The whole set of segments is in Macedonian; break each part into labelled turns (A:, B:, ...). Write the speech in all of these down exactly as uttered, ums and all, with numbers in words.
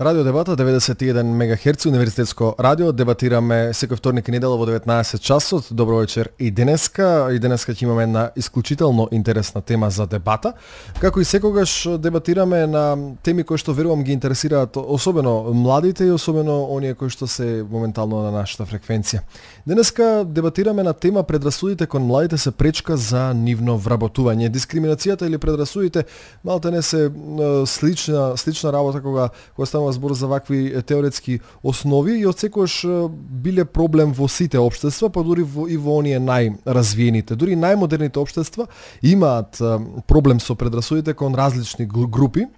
A: Радио Дебата деветдесет и еден мегахерци, универзитетско радио. Дебатираме секој вторник и недела во деветнаесет часот. Добро вечер и денеска. И денеска ќе имаме една исклучително интересна тема за дебата. Како и секогаш дебатираме на теми кои што верувам ги интересираат особено младите и особено оние кои што се моментално на нашата фреквенција. Денеска дебатираме на тема предрасудите кон младите се пречка за нивно вработување. Дискриминацијата или предрасудите малте не се слична слична работа кога кога станува збор за вакви теоретски основи и отсекогаш биле проблем во сите општества, па дури во, и во оние најразвиените. Дури најмодерните општества имаат проблем со предрасудите кон различни групи.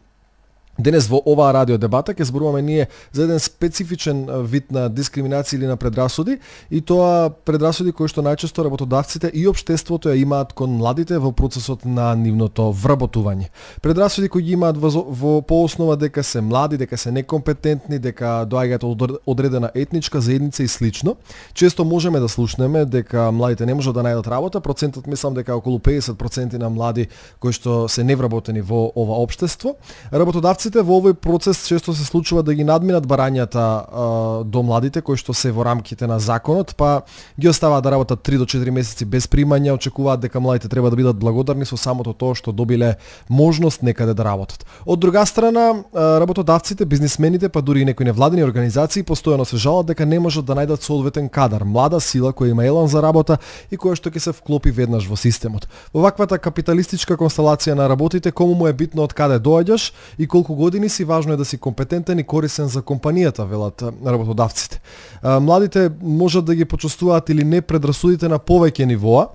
A: Денес во оваа радио дебата ќе зборуваме ние за еден специфичен вид на дискриминација или на предрасуди, и тоа предрасуди кои што најчесто работодавците и општеството ја имаат кон младите во процесот на нивното вработување. Предрасуди кои ги имаат во, во по основа дека се млади, дека се некомпетентни, дека доаѓаат од одредена етничка заедница и слично. Често можеме да слушнеме дека младите не можат да најдат работа. Процентот мислам дека околу педесет проценти на млади кои што се невработени во ова општество. Работодавците во овој процес често се случува да ги надминат барањата а, до младите кои што се во рамките на законот, па ги оставаат да работат три до четири месеци без примања, очекуваат дека младите треба да бидат благодарни со самото тоа што добиле можност некаде да работат. Од друга страна, работодавците, бизнисмените, па дури и некои невладени организации постојано се жалат дека не можат да најдат соодветен кадар, млада сила која има елан за работа и која што ќе се вклопи веднаш во системот. Во ваквата капиталистичка констелација на работите, кому му е битно од каде доаѓаш и колку години си, важно е да си компетентен и корисен за компанијата, велат работодавците. Младите можат да ги почувствуваат или не предрасудите на повеќе нивоа.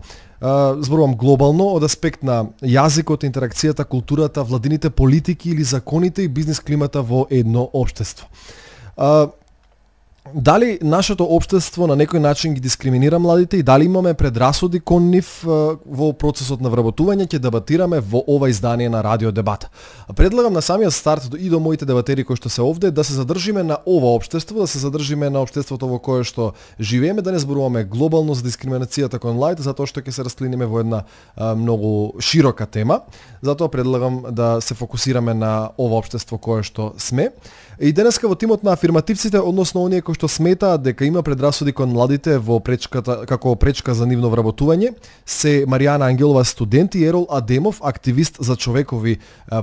A: Зборувам глобално од аспект на јазикот, интеракцијата, културата, владините политики или законите и бизнис климата во едно општество. Дали нашето општество на некој начин ги дискриминира младите и дали имаме предрасуди кон нив во процесот на вработување, ќе дебатираме во ова издание на Радио Дебата. Предлагам на самиот старт и до моите дебатери кои што се овде да се задржиме на ова општество, да се задржиме на општеството во кое што живееме, да не зборуваме глобално за дискриминацијата кон младите, затоа што ќе се растлиниме во една а, многу широка тема. Затоа предлагам да се фокусираме на ова општество кое што сме. И денеска во тимот на афирмативците, односно оние кои што сметаат дека има предрасуди кон младите во пречката како пречка за нивно вработување, се Маријана Ангелова, студент, и Ерол Адемов, активист за човекови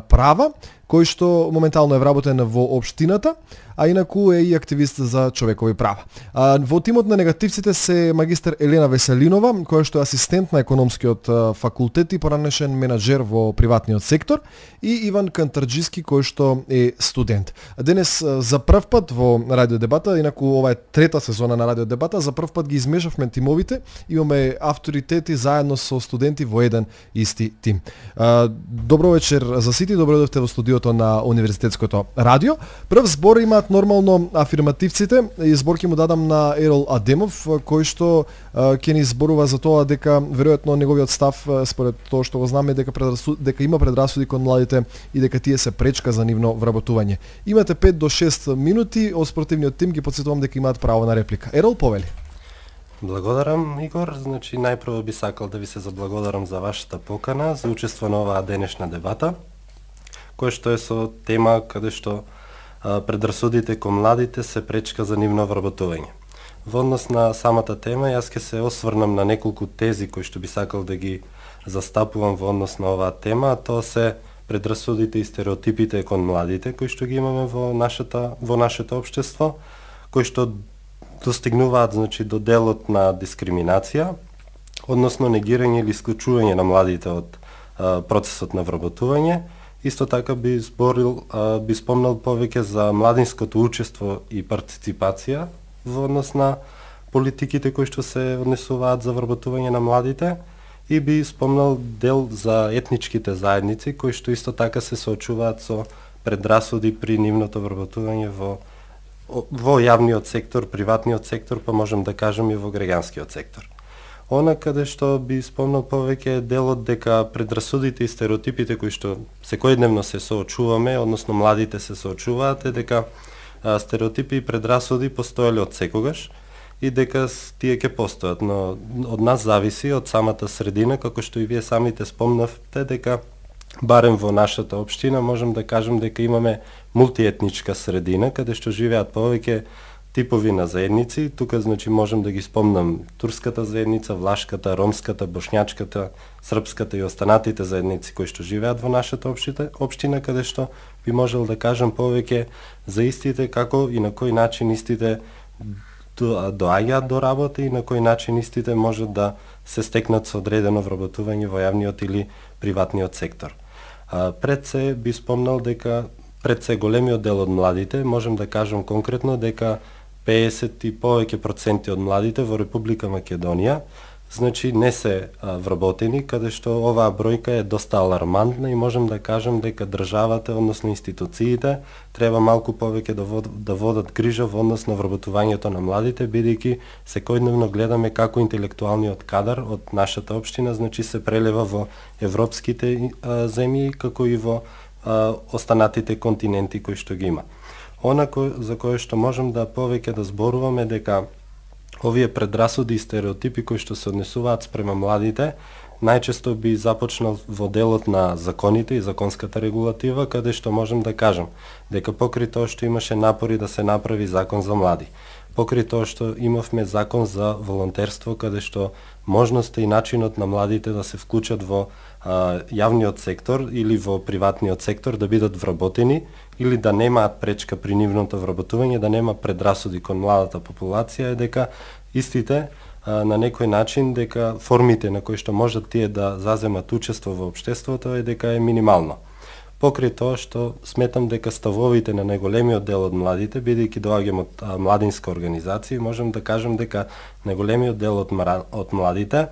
A: права, кој што моментално е вработен во општината, а инаку е и активист за човекови права. А, во тимот на негативците се магистер Елена Веселинова, која што е асистент на економскиот факултет и поранешен менаџер во приватниот сектор, и Иван Кантарџиски, кој што е студент. Денес за прв пат во Радио Дебата, инаку ова е трета сезона на Радио Дебата, за прв пат ги измешавме тимовите, имаме авторитети заедно со студенти во еден исти тим. А, добро вечер за сите, добро дојдовте во студиото на Универзитетското радио. Прв збор имаат нормално афирмативците, и збор ќе му дадам на Ерол Адемов, кој што ќе ни зборува за тоа дека веројатно неговиот став, според тоа што го знаме, дека предрасуд, дека има предрасуди кон младите и дека тие се пречка за нивно вработување. Имате пет до шест минути, од спортивниот тим ги потсетувам дека имаат право на реплика. Ерол, повели.
B: Благодарам, Игор. Значи, најпрво би сакал да ви се заблагодарам за вашата покана, за учество на оваа денешна дебата, кој што е со тема каде што а, предрасудите кон младите се пречка за нивно вработување. Во однос на самата тема, јас ќе се осврнам на неколку тези кои што би сакал да ги застапувам во однос на оваа тема, а тоа се предрасудите и стереотипите кон младите кои што ги имаме во нашата во нашето општество, кои што достигнуваат, значи, до делот на дискриминација, односно негирање или исклучување на младите од а, процесот на вработување. Исто така би зборил, а, би спомнал повеќе за младинското учество и партиципација во однос на политиките кои што се однесуваат за вработување на младите, и би спомнал дел за етничките заедници кои што исто така се соочуваат со предрасуди при нивното вработување во во јавниот сектор, приватниот сектор, па можем да кажем и во граѓанскиот сектор. Она каде што би спомнал повеќе делот дека предрасудите и стереотипите кои што секојдневно се соочуваме, односно младите се соочуваат, е дека а, стереотипи и предрасуди постоеле од секогаш и дека тие ќе постојат, но од нас зависи, од самата средина, како што и вие самите спомнавте, дека барем во нашата општина можам да кажам дека имаме мултиетничка средина каде што живеат повеќе типови на заедници. Тука значи можам да ги спомнам турската заедница, влашката, ромската, бошњачката, српската и останатите заедници кои што живеат во нашата општина, општина каде што би можел да кажам повеќе за истите, како и на кој начин истите доаѓаат до работа и на кој начин истите можат да се стекнат со одредено вработување во јавниот или приватниот сектор. А, пред се би спомнал дека пред се големиот дел од младите, можам да кажам конкретно дека педесет и повеќе проценти од младите во Република Македонија значи не се а, вработени, каде што оваа бројка е доста алармантна и можам да кажам дека државата, односно институциите, треба малку повеќе да, вод, да водат грижа во однос на вработувањето на младите, бидејќи секојдневно гледаме како интелектуалниот кадар од нашата општина значи се прелева во европските а, земји, како и во а, останатите континенти кои што ги има. Она кој, за кое што можам да повеќе да зборуваме дека овие предрасуди и стереотипи кои што се однесуваат спрема младите, најчесто би започнал во делот на законите и законската регулатива, каде што можем да кажам дека покри тоа што имаше напори да се направи закон за млади, покри тоа што имавме закон за волонтерство, каде што можноста и начинот на младите да се вклучат во а, јавниот сектор или во приватниот сектор да бидат вработени или да немаат пречка при нивното вработување, да нема предрасуди кон младата популација, е дека истите а, на некој начин дека формите на кои што можат тие да заземат учество во општеството е дека е минимално. Покри тоа што сметам дека ставовите на најголемиот дел од младите, бидејќи доаѓам од а, младинска организација, можам да кажам дека најголемиот дел од, мара, од младите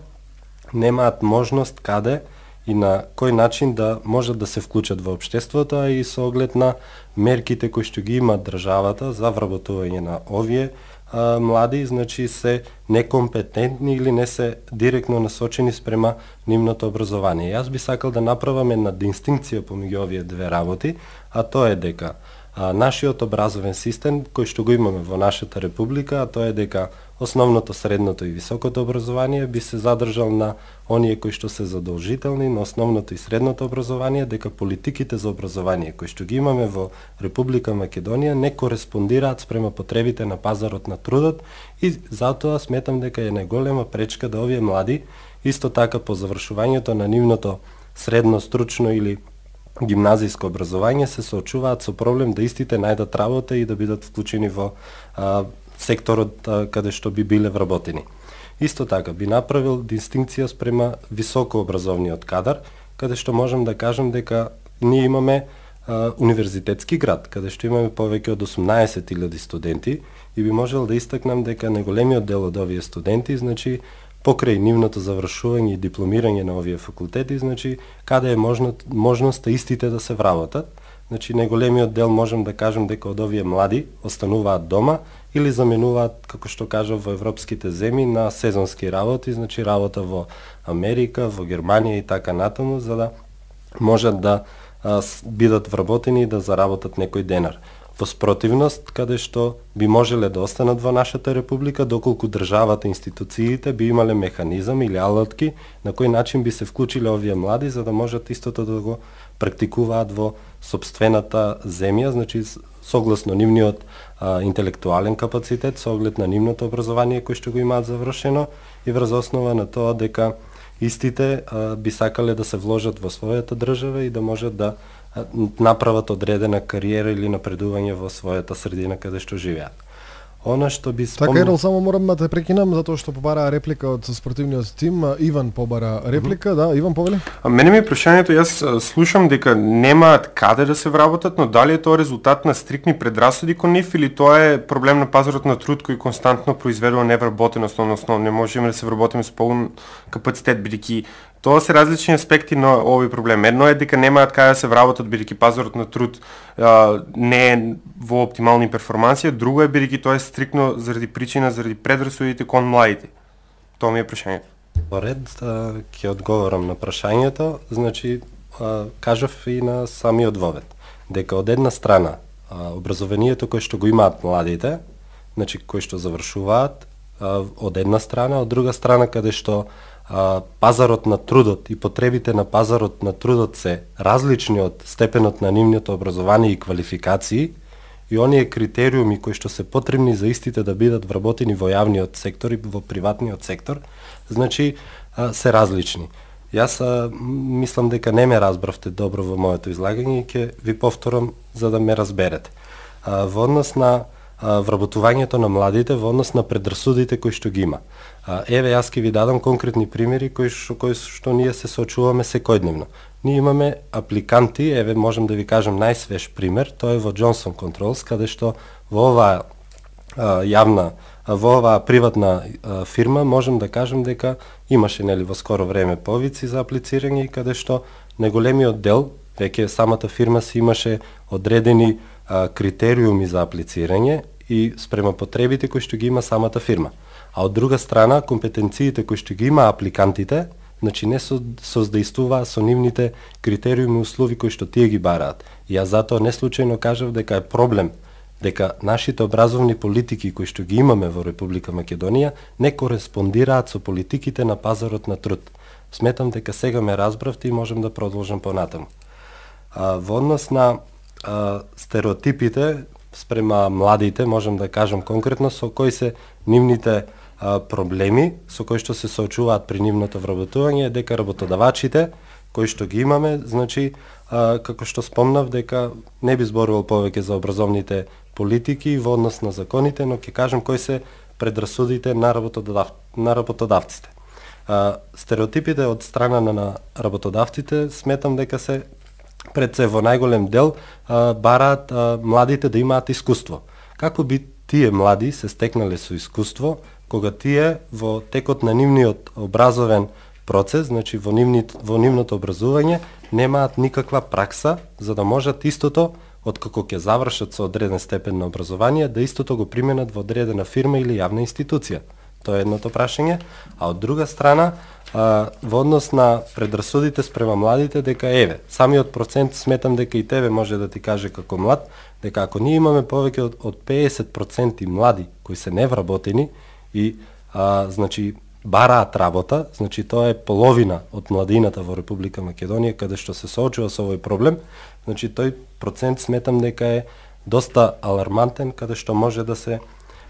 B: немаат можност каде и на кој начин да можат да се вклучат во општеството, а и со оглед на мерките кои што ги има државата за вработување на овие а, млади, значи се некомпетентни или не се директно насочени спрема нивното образование. Јас би сакал да направам една дистинкција помеѓу овие две работи, а тоа е дека а, нашиот образовен систем кој што го имаме во нашата република, а тоа е дека основното, средното и високото образование би се задржал на оние кои што се задолжителни, на основното и средното образование, дека политиките за образование кои што ги имаме во Република Македонија не кореспондираат спрема потребите на пазарот на трудот и затоа сметам дека е најголема пречка да овие млади исто така по завршувањето на нивното средно, стручно или гимназиско образование се соочуваат со проблем да истите најдат работа и да бидат вклучени во а, секторот а, каде што би биле вработени. Исто така би направил дистинкција спрема високообразовниот кадар, каде што можам да кажам дека ние имаме а, универзитетски град, каде што имаме повеќе од осумнаесет илјади студенти и би можел да истакнам дека најголемиот дел од овие студенти, значи покрај нивното завршување и дипломирање на овие факултети, значи каде е можно, можноста истите да се вработат. Значи најголемиот дел можам да кажам дека од овие млади остануваат дома или заменуваат, како што кажав, во европските земји на сезонски работи, значи работа во Америка, во Германија и така натаму, за да можат да а, бидат вработени и да заработат некој денар. Во спротивност, каде што би можеле да останат во нашата република, доколку државата, институциите би имале механизам или алатки на кој начин би се вклучиле овие млади за да можат истото да го практикуваат во сопствената земја, значи согласно нивниот а, интелектуален капацитет, со оглед на нивното образование кој што го имаат завршено и врз основа на тоа дека истите а, би сакале да се вложат во својата држава и да можат да а, направат одредена кариера или напредување во својата средина каде што живеат. Она што би спомнал...
A: Така, Ерол, само морам да те прекинам, затоа што побара реплика од спортивниот тим. Иван побара реплика, mm-hmm. да, Иван повели?
C: А мене ми е прашањето, јас слушам дека немаат каде да се вработат, но дали е тоа резултат на стрикни предрасуди кон нив или тоа е проблем на пазарот на труд кој константно произведува невработеност, односно не можеме да се вработиме со полн капацитет, бидејќи тоа се различни аспекти на овој проблем. Едно е дека немаат каде да се вработат, бидејќи пазарот на труд а, не е во оптимални перформанси, друго е бидејќи тоа е стрикно заради причина, заради предрасудите кон младите. Тоа ми е прашањето.
B: Поред, ќе одговорам на прашањето, значи, а, кажав и на самиот вовед, дека од една страна а, образованието кој што го имаат младите, значи кои што завршуваат, а, од една страна, од друга страна каде што а, пазарот на трудот и потребите на пазарот на трудот се различни од степенот на нивното образование и квалификации, и оние критериуми кои што се потребни за истите да бидат вработени во јавниот сектор и во приватниот сектор, значи а, се различни. Јас а, мислам дека не ме разбравте добро во моето излагање и ќе ви повторам за да ме разберете. А, во однос на а, вработувањето на младите, во однос на предрасудите кои што ги има. А, еве јас ќе ви дадам конкретни примери кои што, кои што ние се соочуваме секојдневно. Ние имаме апликанти, еве можам да ви кажам најсвеж пример, тоа е во Johnson Controls, каде што во оваа а, јавна, а, во оваа приватна а, фирма можам да кажам дека имаше нели во скоро време повици за аплицирање и каде што неголемиот дел, веќе самата фирма си имаше одредени а, критериуми за аплицирање и спрема потребите кои што ги има самата фирма. А од друга страна, компетенциите кои што ги има апликантите, значи не со, создействуваа со нивните критериуми и услови кои што тие ги бараат. И јас затоа не случајно кажав дека е проблем дека нашите образовни политики кои што ги имаме во Република Македонија не кореспондираат со политиките на пазарот на труд. Сметам дека сега ме разбравте и можем да продолжам понатаму. А, во однос на а, стереотипите спрема младите, можем да кажам конкретно со кои се нивните а, проблеми со кои што се соочуваат при нивното вработување, дека работодавачите кои што ги имаме, значи а, како што спомнав дека не би зборувал повеќе за образовните политики во однос на законите, но ќе кажам кои се предрасудите на работодав... на работодавците. А, стереотипите од страна на работодавците сметам дека се пред се во најголем дел а, бараат а, младите да имаат искуство. Како би тие млади се стекнале со искуство кога тие во текот на нивниот образовен процес, значи во, нивни, во нивното образување, немаат никаква пракса за да можат истото откако ќе завршат со одреден степен на образование, да истото го применат во одредена фирма или јавна институција. Тоа е едното прашање. А од друга страна, а, во однос на предрасудите спрема младите, дека еве, самиот процент сметам дека и тебе може да ти каже како млад, дека ако ние имаме повеќе од, од педесет проценти млади кои се невработени и а, значи бараат работа, значи тоа е половина од младината во Република Македонија каде што се соочува со овој проблем, значи тој процент сметам дека е доста алармантен, каде што може да се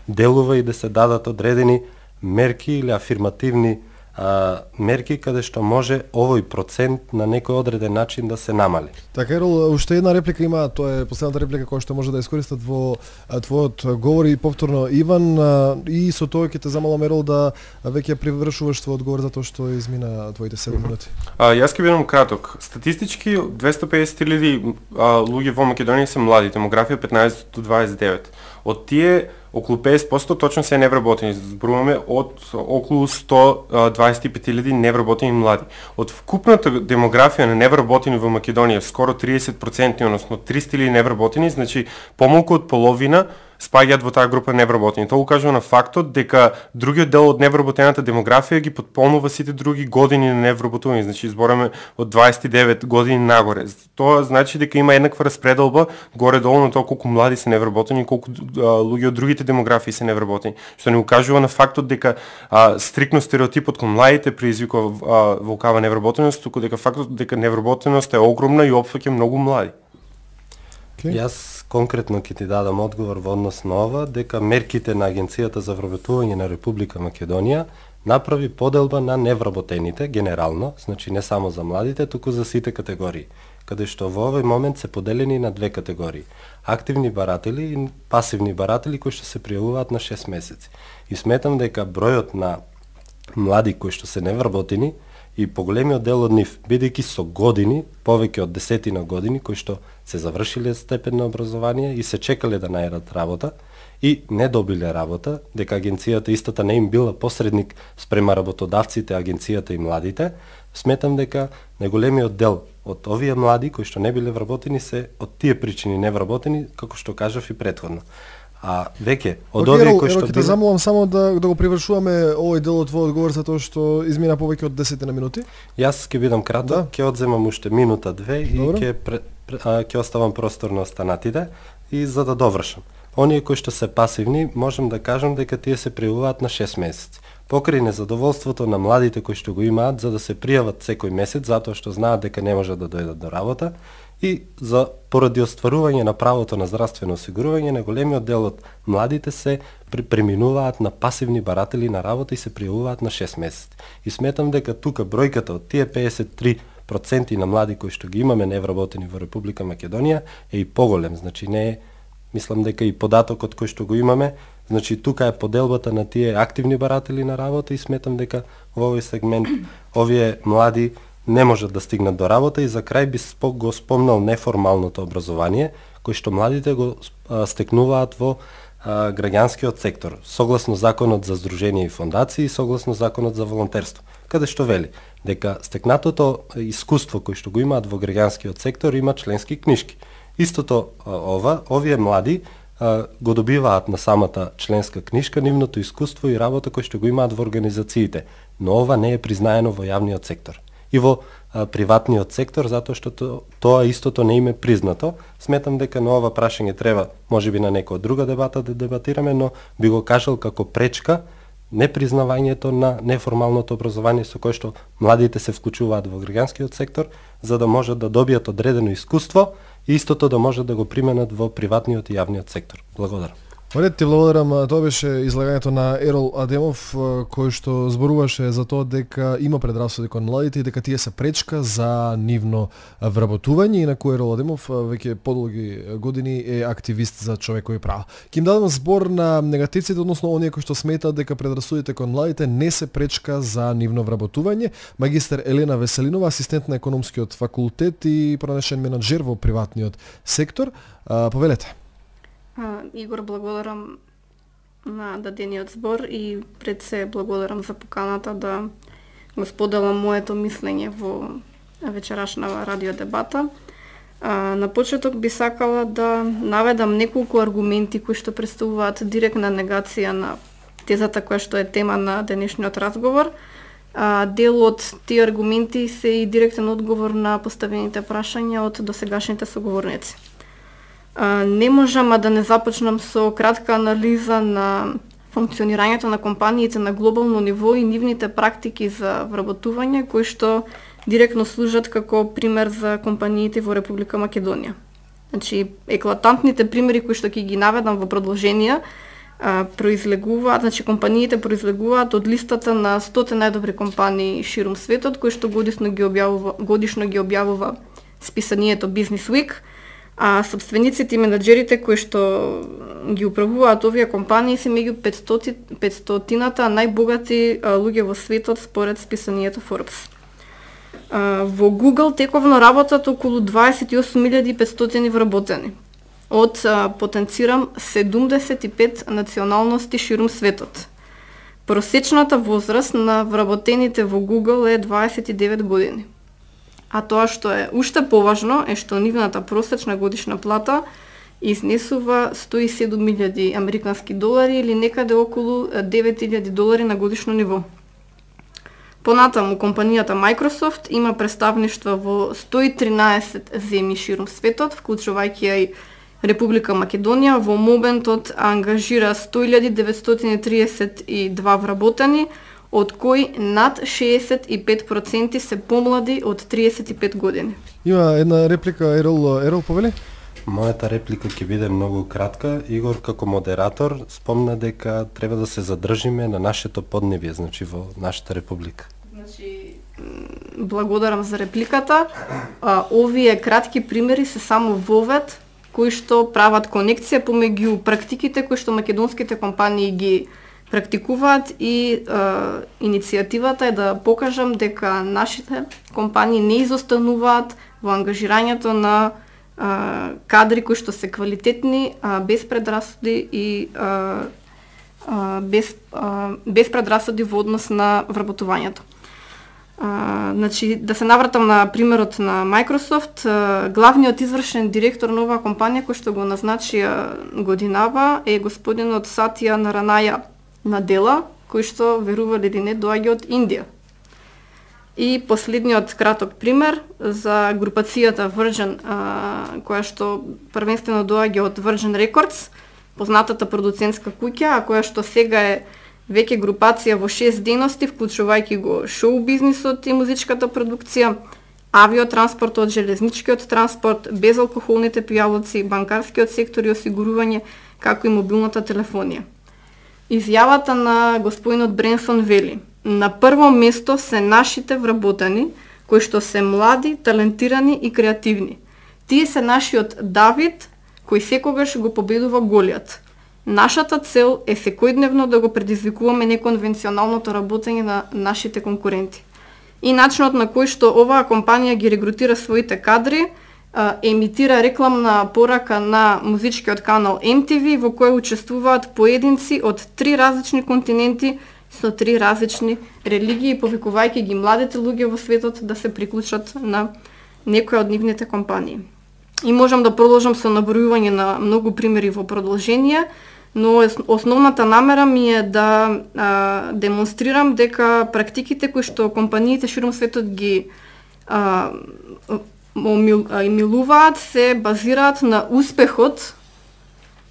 B: делува и да се дадат одредени мерки или афирмативни а, мерки каде што може овој процент на некој одреден начин да се намали.
A: Така, Ерол, уште една реплика има, тоа е последната реплика која што може да искористат во а, твојот говор и повторно Иван, а, и со тоа ќе те замолам, Ерол, да веќе привршуваш твојот одговор за тоа што измина твоите седум минути.
C: А, јас ќе бидам краток. Статистички двесто педесет илјади луѓе во Македонија се млади, демографија петнаесет до дваесет и девет. Од тие околу педесет проценти точно се невработени. Зборуваме од околу сто дваесет и пет илјади невработени млади. Од вкупната демографија на невработени во Македонија, скоро триесет проценти, односно триста илјади невработени, значи помалку од половина спаѓаат во таа група невработени. Тоа укажува на фактот дека другиот дел од невработената демографија ги потполнува сите други години на невработување, значи збораме од дваесет и девет години нагоре. Тоа значи дека има еднаква распределба горе-долу на тоа колку млади се невработени, колку а, луѓе од другите демографии се невработени, што не укажува на фактот дека а, стрикно стереотипот кон младите предизвикува волкава невработеност, туку дека фактот дека невработеност е огромна и опфаќа многу млади.
B: Okay. Јас конкретно ќе ти дадам одговор во однос на ова, дека мерките на Агенцијата за вработување на Република Македонија направи поделба на невработените генерално, значи не само за младите, туку за сите категории, каде што во овој момент се поделени на две категории: активни баратели и пасивни баратели кои што се пријавуваат на шест месеци. И сметам дека бројот на млади кои што се невработени и поголемиот дел од нив, бидејќи со години, повеќе од десетина години, кои што се завршиле степен на образование и се чекале да најдат работа и не добиле работа, дека агенцијата истата не им била посредник спрема работодавците, агенцијата и младите, сметам дека најголемиот дел од овие млади кои што не биле вработени се од тие причини невработени, како што кажав и претходно. А веќе од
A: okay,
B: овие кои што
A: ќе те замолам само да да го привршуваме овој дел од твојот одговор за тоа што измина повеќе од десет на минути.
B: Јас ќе бидам краток, ќе да. одземам уште минута две и ќе ќе оставам простор на останатите и за да довршам. Оние кои што се пасивни, можам да кажам дека тие се пријавуваат на шест месеци. покрај незадоволството на младите кои што го имаат за да се пријават секој месец затоа што знаат дека не можат да дојдат до работа и за поради остварување на правото на здравствено осигурување на големиот дел од младите се преминуваат на пасивни баратели на работа и се пријавуваат на шест месеци. И сметам дека тука бројката од тие педесет и три проценти на млади кои што ги имаме невработени во Република Македонија е и поголем, значи не е, мислам дека и податокот кој што го имаме, значи тука е поделбата на тие активни баратели на работа и сметам дека во овој сегмент овие млади не можат да стигнат до работа и за крај би го спомнал неформалното образование кој што младите го стекнуваат во а, граѓанскиот сектор, согласно законот за здружение и фондации и согласно законот за волонтерство, каде што вели дека стекнатото искуство кој што го имаат во граѓанскиот сектор има членски книшки. Истото ова, овие млади а, го добиваат на самата членска книшка нивното искуство и работа кој што го имаат во организациите, но ова не е признаено во јавниот сектор и во а, приватниот сектор затоа што то, тоа истото не им е признато. Сметам дека на ова прашање треба можеби на некоја друга дебата да дебатираме, но би го кажал како пречка непризнавањето на неформалното образование со кое што младите се вклучуваат во граѓанскиот сектор за да можат да добијат одредено искуство и истото да можат да го применат во приватниот и јавниот сектор. Благодарам.
A: Оред, ти благодарам. Тоа беше излагањето на Ерол Адемов, кој што зборуваше за тоа дека има предрасуди кон младите и дека тие се пречка за нивно вработување. Инаку Ерол Адемов веќе подолги години е активист за човекови права. Ќе им дадам збор на негативците, односно оние кои што сметаат дека предрасудите кон младите не се пречка за нивно вработување. Магистер Елена Веселинова, асистент на економскиот факултет и пронешен менаџер во приватниот сектор. Повелете.
D: А, Игор, благодарам на дадениот збор и пред се благодарам за поканата да го споделам моето мислење во вечерашна радиодебата. А, на почеток би сакала да наведам неколку аргументи кои што представуваат директна негација на тезата која што е тема на денешниот разговор. А, дел од тие аргументи се и директен одговор на поставените прашања од досегашните соговорници. Uh, не можам а да не започнам со кратка анализа на функционирањето на компаниите на глобално ниво и нивните практики за вработување кои што директно служат како пример за компаниите во Република Македонија. Значи, еклатантните примери кои што ќе ги наведам во продолжение uh, произлегуваат, значи компаниите произлегуваат од листата на сто најдобри компании ширум светот кои што годишно ги објавува годишно ги објавува списанието Business Week. А собствениците и менаџерите кои што ги управуваат овие компании се меѓу петстотината најбогати луѓе во светот според списанието Forbes. А, во Google тековно работат околу дваесет и осум илјади и петстотини вработени од а, потенцирам седумдесет и пет националности ширум светот. Просечната возраст на вработените во Google е дваесет и девет години. А тоа што е уште поважно е што нивната просечна годишна плата изнесува сто и седум илјади американски долари или некаде околу девет илјади долари на годишно ниво. Понатаму компанијата Microsoft има представништва во сто и тринаесет земји ширум светот, вклучувајќи ја и Република Македонија. Во моментот ангажира сто илјади деветстотини и триесет и два вработени, од кои над шеесет и пет проценти се помлади од триесет и пет години.
A: Има една реплика, Ерол, Ерол повели?
B: Мојата реплика ќе биде многу кратка. Игор како модератор спомна дека треба да се задржиме на нашето поднебје, значи во нашата република.
D: Значи, благодарам за репликата. А, овие кратки примери се само вовед кои што прават конекција помеѓу практиките кои што македонските компании ги практикуваат и е, иницијативата е да покажам дека нашите компании не изостануваат во ангажирањето на е, кадри кои што се квалитетни, е, без предрасуди и е, е, без, е, без предрасуди во однос на вработувањето. Uh, значи, да се навратам на примерот на Microsoft, uh, главниот извршен директор на оваа компанија кој што го назначи годинава е господинот Сатија Наранаја Надела, кој што, верували или не, доаѓа од Индија. И последниот краток пример за групацијата Virgin, uh, која што првенствено доаѓа од Virgin Records, познатата продуцентска куќа, а која што сега е веќе групација во шест дејности, вклучувајќи го шоу бизнисот и музичката продукција, авиотранспортот, железничкиот транспорт, безалкохолните пијалоци, банкарскиот сектор и осигурување, како и мобилната телефонија. Изјавата на господинот Бренсон вели: на прво место се нашите вработени, кои што се млади, талентирани и креативни. Тие се нашиот Давид, кој секогаш го победува Голијат. Нашата цел е секојдневно да го предизвикуваме неконвенционалното работење на нашите конкуренти. И начинот на кој што оваа компанија ги регрутира своите кадри, емитира рекламна порака на музичкиот канал Ем Ти Ви, во кој учествуваат поединци од три различни континенти со три различни религии, повикувајќи ги младите луѓе во светот да се приклучат на некоја од нивните компании. И можам да продолжам со набројување на многу примери во продолжение, но основната намера ми е да а, демонстрирам дека практиките кои што компаниите широм светот ги а, милуваат се базираат на успехот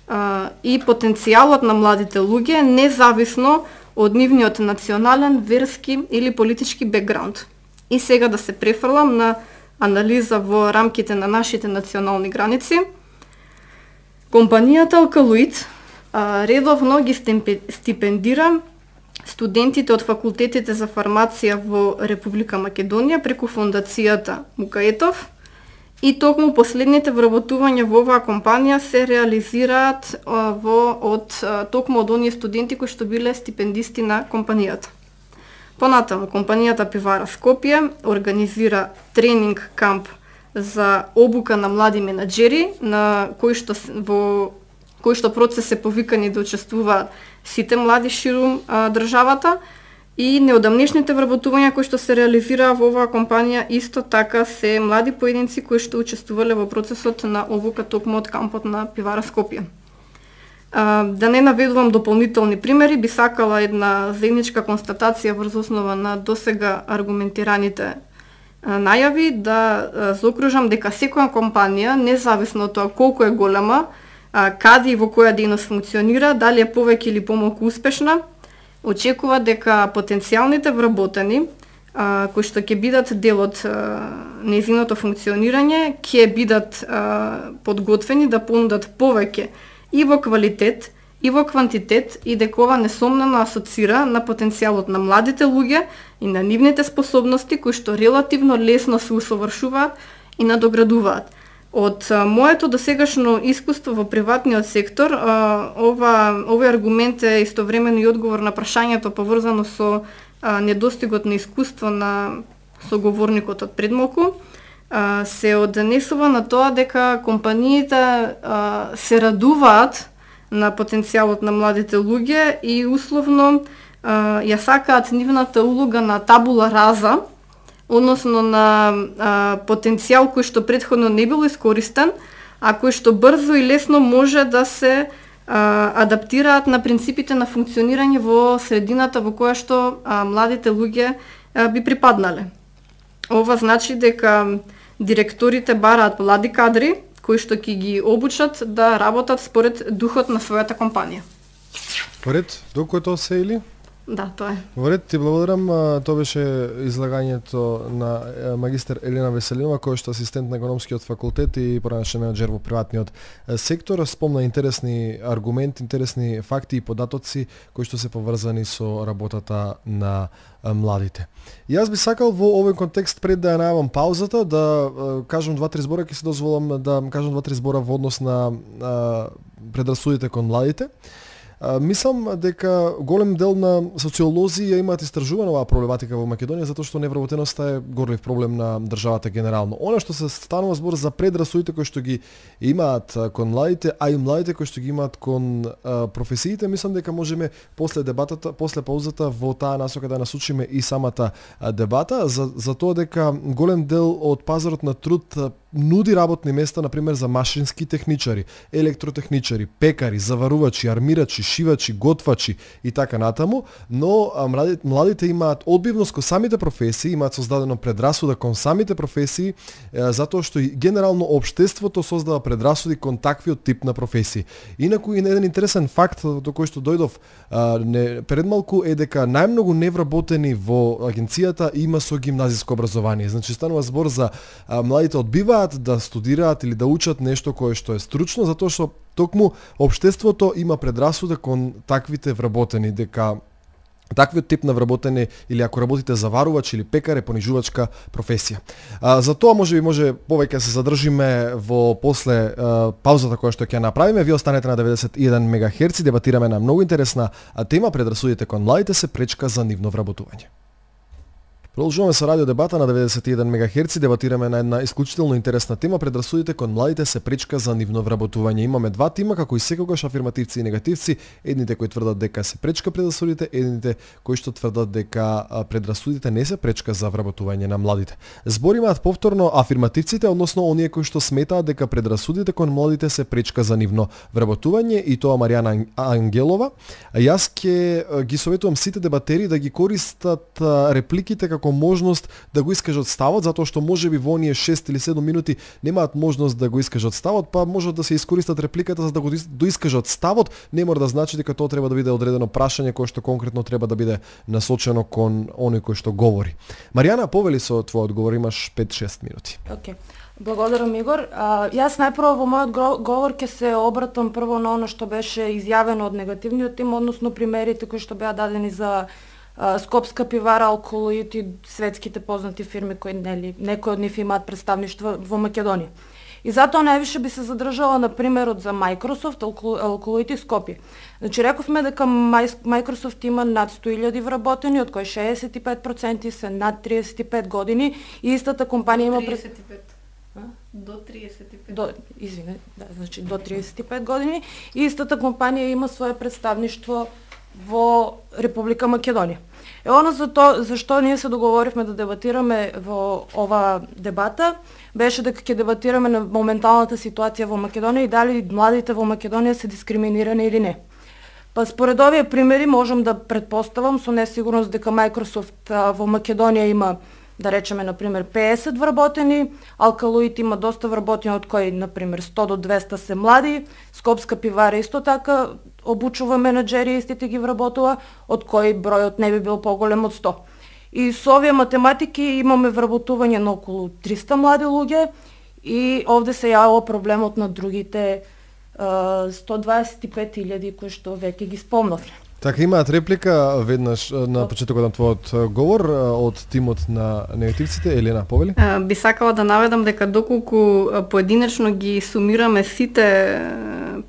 D: а, и потенцијалот на младите луѓе, независно од нивниот национален, верски или политички бекграунд. И сега да се префрлам на анализа во рамките на нашите национални граници. Компанијата Алкалоид а, редовно ги стипендира студентите од факултетите за фармација во Република Македонија преку фондацијата Мукаетов, и токму последните вработувања во оваа компанија се реализираат а, во од а, токму од оние студенти кои што биле стипендисти на компанијата. Понатаму, компанијата Пивара Скопје организира тренинг камп за обука на млади менаџери, на кој што во кој што процес се повикани да учествуваат сите млади ширум а, државата, и неодамнешните вработувања кои што се реализираа во оваа компанија исто така се млади поединци кои што учествувале во процесот на обука токму од кампот на Пивара Скопје. А, да не наведувам дополнителни примери, би сакала една заедничка констатација врз основа на досега аргументираните а, најави да а, заокружам дека секоја компанија, независно од тоа колку е голема, а, каде и во која дејност функционира, дали е повеќе или помалку успешна, очекува дека потенцијалните вработени, а, кои што ќе бидат дел од нејзиното функционирање, ќе бидат а, подготвени да понудат повеќе и во квалитет, и во квантитет, и дека ова несомнено асоцира на потенцијалот на младите луѓе и на нивните способности кои што релативно лесно се усовршуваат и надоградуваат. Од а, моето досегашно искуство во приватниот сектор, а, ова, овој аргумент е истовремено и одговор на прашањето поврзано со а, недостигот на искуство на соговорникот од предмалку, а, се однесува на тоа дека компаниите а, се радуваат на потенцијалот на младите луѓе и условно а, ја сакаат нивната улога на табула раза, односно на а, потенцијал кој што претходно не бил искористен, а кој што брзо и лесно може да се а, адаптираат на принципите на функционирање во средината во која што а, младите луѓе а, би припаднале. Ова значи дека директорите бараат млади кадри кои што ќе ги обучат да работат според духот на својата компанија.
A: Поред, доколку тоа се или?
D: Да, тоа е.
A: Во ти благодарам. Тоа беше излагањето на магистер Елена Веселинова, која што е асистент на економскиот факултет и поранешен менаџер во приватниот сектор. Спомна интересни аргументи, интересни факти и податоци кои што се поврзани со работата на младите. И јас би сакал во овој контекст, пред да ја најавам паузата, да кажам два-три збора, ќе се дозволам да кажам два-три збора во однос на предрасудите кон младите. А, мислам дека голем дел на социолози ја имаат истражувана оваа проблематика во Македонија, затоа што невработеноста е горлив проблем на државата генерално. Она што се станува збор за предрасудите кои што ги имаат кон младите, а и младите кои што ги имаат кон а, професиите, мислам дека можеме после дебатата, после паузата во таа насока да насочиме и самата а, дебата за, за тоа дека голем дел од пазарот на труд нуди работни места, например, за машински техничари, електротехничари, пекари, заварувачи, армирачи, пешивачи, готвачи и така натаму, но а, младите, младите имаат одбивност кон самите професии, имаат создадено предрасуда кон самите професии, е, затоа што и генерално општеството создава предрасуди кон таквиот тип на професии. Инаку и еден интересен факт до кој што дојдов а, не, пред малку е дека најмногу невработени во агенцијата има со гимназиско образование. Значи станува збор за а, младите одбиваат да студираат или да учат нешто кое што е стручно, затоа што токму општеството има предрасуда кон таквите вработени, дека таквиот тип на вработене или ако работите заварувач или пекар е понижувачка професија. А, за тоа може би може повеќе се задржиме во после а, паузата која што ќе направиме. Ви останете на деветдесет и еден мегахерци, дебатираме на многу интересна тема, предрасудите кон младите се пречка за нивно вработување. Продолжуваме со радио дебата на деветдесет и еден мегахерци, дебатираме на една исклучително интересна тема, предрасудите кон младите се пречка за нивно вработување. Имаме два тима, како и секогаш афирмативци и негативци, едните кои тврдат дека се пречка предрасудите, едните кои што тврдат дека предрасудите не се пречка за вработување на младите. Зборимаат повторно афирмативците, односно оние кои што сметаат дека предрасудите кон младите се пречка за нивно вработување, и тоа Маријана Ангелова. Јас ќе ги советувам сите дебатери да ги користат репликите како можност да го искажат ставот, затоа што можеби во оние шест или седум минути немаат можност да го искажат ставот, па можат да се искористат репликата за да го доискажат ставот. Не мора да значи дека тоа треба да биде одредено прашање кое што конкретно треба да биде насочено кон оној кој што говори. Маријана, повели со твој одговор, имаш пет-шест минути.
E: Окей. Okay. Благодарам, Игор. А, јас најпрво во мојот говор ќе се обратам прво на оно што беше изјавено од негативниот тим, односно примерите кои што беа дадени за Скопска пивара, Алколоид и светските познати фирми кои нели некои од нив имаат представништва во Македонија. И затоа највише би се задржала на примерот за Microsoft, Алколоид и Скопје. Значи рековме дека Microsoft има над сто илјади вработени, од кои шеесет и пет проценти се над триесет и пет години, и истата компанија има
D: триесет и пет. До триесет и пет.
E: До, извине, да, значи до триесет и пет години, и истата компанија има свое представништво во Република Македонија. Е оно за то, зашто ние се договоривме да дебатираме во ова дебата, беше дека ќе дебатираме на моменталната ситуација во Македонија и дали младите во Македонија се дискриминирани или не. Па според овие примери можам да предпоставам со несигурност дека Microsoft а, во Македонија има, да речеме, например, пеесет вработени, Алкалоид има доста вработени, од кои, например, сто до двеста се млади, Скопска пивара исто така обучува менаџери и истите ги вработува, од кои бројот не би бил поголем од сто. И со овие математики имаме вработување на околу триста млади луѓе, и овде се јавува проблемот на другите сто дваесет и пет илјади кои што веќе ги спомнавме.
A: Така, имаат реплика веднаш на почетокот на твојот говор од тимот на негативците. Елена, повели?
D: Би сакала да наведам дека доколку поединечно ги сумираме сите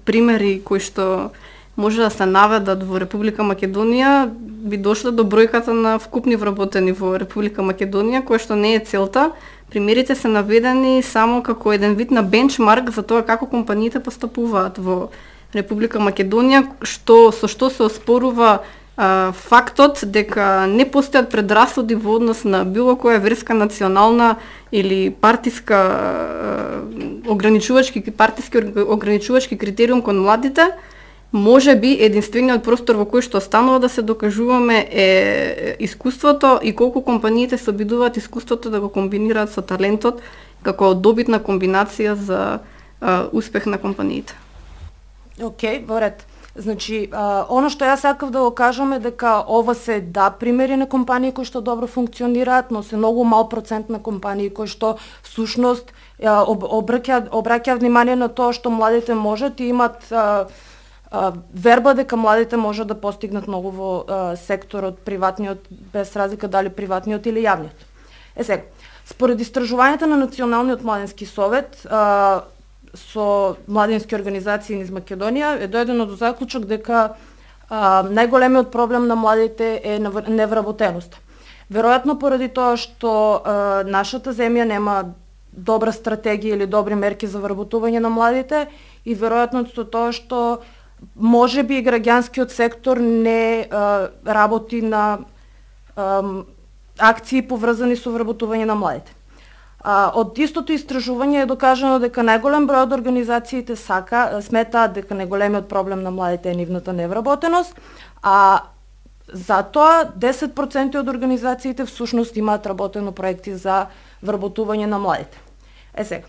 D: примери кои што може да се наведат во Република Македонија, би дошло до бројката на вкупни вработени во Република Македонија, која што не е целта. Примерите се наведени само како еден вид на бенчмарк за тоа како компаниите постапуваат во Република Македонија, што со што се оспорува а, фактот дека не постојат предрасуди во однос на било која верска, национална или партиска а, ограничувачки партиски ограничувачки критериум кон младите. Може би единствениот простор во кој што останува да се докажуваме е искуството и колку компаниите се обидуваат искуството да го комбинираат со талентот како добитна комбинација за а, успех на компаниите.
E: Океј, okay, во ред. Значи, а, ono што јас сакав да го кажам е дека ова се да примери на компании кои што добро функционираат, но се многу мал процент на компании кои што всушност об, обраќа обраќа внимание на тоа што младите можат и имат а, а, верба дека младите можат да постигнат многу во а, секторот приватниот, без разлика дали приватниот или јавниот. Е сега, според истражувањата на Националниот младински совет, а, со младински организации низ Македонија е дојдено до заклучок дека а, најголемиот проблем на младите е невработеноста. Веројатно поради тоа што а, нашата земја нема добра стратегија или добри мерки за вработување на младите, и веројатно со тоа што можеби граѓанскиот сектор не а, работи на а, акции поврзани со вработување на младите. А, од истото истражување е докажано дека најголем број од организациите сака сметаат дека најголемиот проблем на младите е нивната невработеност, а затоа десет проценти од организациите всушност имаат работено проекти за вработување на младите. Е сега,